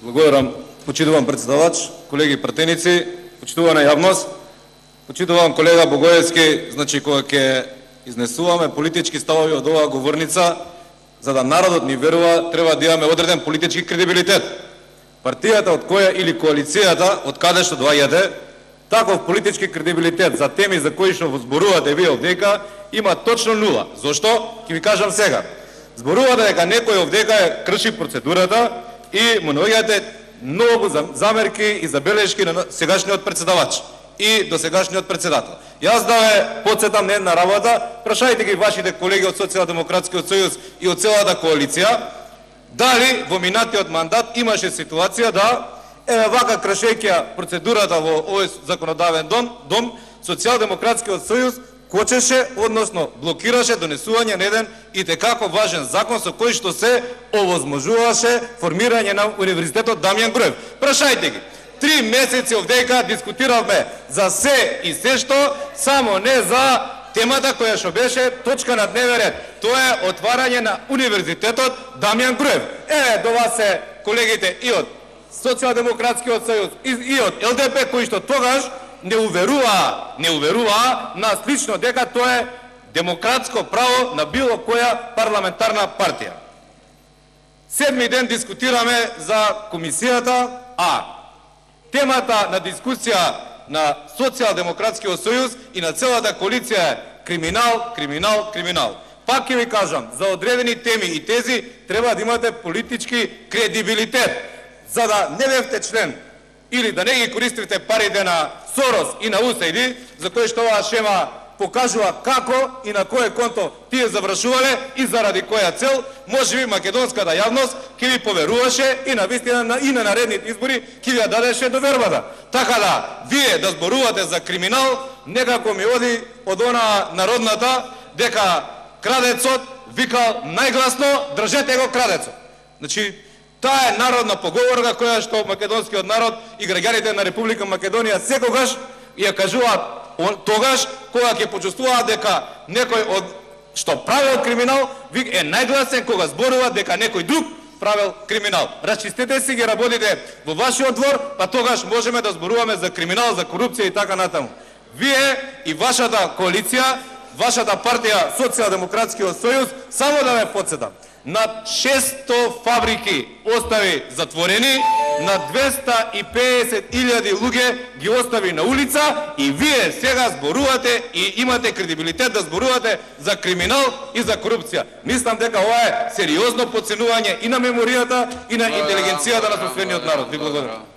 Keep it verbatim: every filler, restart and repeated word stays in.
Благодарам, почитувам председавач, колеги пратеници, почитувана јавност, почитувам колега Богоевски, значи кога ќе изнесуваме политички ставови од оваа говорница, за да народот ни верува, треба да имаме одреден политички кредибилитет. Партијата од која или коалицијата од каде што доаѓате, таков политички кредибилитет за теми за кои што зборувате вие овдека има точно нула. Зошто? Ќе ви кажам сега. Зборувате дека некој овдека е крши процедурата и му наоѓате многу замерки и забелешки на сегашниот председавач и до сегашниот председател. Јас да ве потсетам на една работа, прашајте ги вашите колеги од Социјалдемократскиот сојуз и од целата коалиција, дали во минатиот мандат имаше ситуација да еве вака кршејќи процедурата во овој законодавен дом, дом Социјалдемократскиот сојуз кочеше, односно блокираше донесување на еден и текако важен закон со кој што се овозможуваше формирање на Универзитетот Дамјан Груев. Прашајте ги. Три месеци овдека дискутиравме за се и се што, само не за темата која што беше точка на дневен ред. Тоа е отварање на Универзитетот Дамјан Груев. Еве до вас се колегите и од Социјалдемократскиот сојуз и, и од Л Д П кои што тогаш не уверуваа, не уверуваа нас лично дека тоа е демократско право на било која парламентарна партија. Седми ден дискутираме за комисијата, а темата на дискусија на Социјалдемократскиот сојуз и на целата коалиција е криминал, криминал, криминал. Пак ќе ви кажам, за одредени теми и тези треба да имате политички кредибилитет, за да не бевте член или да не ги користите парите на Сорос и на Усајди, за кои што оваа шема покажува како и на кое конто тие завршувале и заради која цел, може би македонската јавност ќе ви поверуваше и на вистина и на наредните избори ќе ви ја дадеше довербата. Така да, вие да зборувате за криминал, некако ми оди од она народната дека крадецот викал најгласно држете го крадецот. Значи, таа е народна поговорка која што македонскиот народ и граѓаните на Република Македонија секогаш ја кажуваат тогаш кога ќе почувствуваат дека некој од што правил криминал е најгласен кога зборува дека некој друг правил криминал. Расчистете си ги работите во вашиот двор, па тогаш можеме да зборуваме за криминал, за корупција и така натаму. Вие и вашата коалиција, вашата партија Социјалдемократскиот сојуз, само да ве потсетам, над шесто фабрики остави затворени, на двеста и педесет илјади луѓе ги остави на улица и вие сега зборувате и имате кредибилитет да зборувате за криминал и за корупција. Мислам дека ова е сериозно потценување и на меморијата и на интелигенцијата на соседниот народ. Ви благодарам.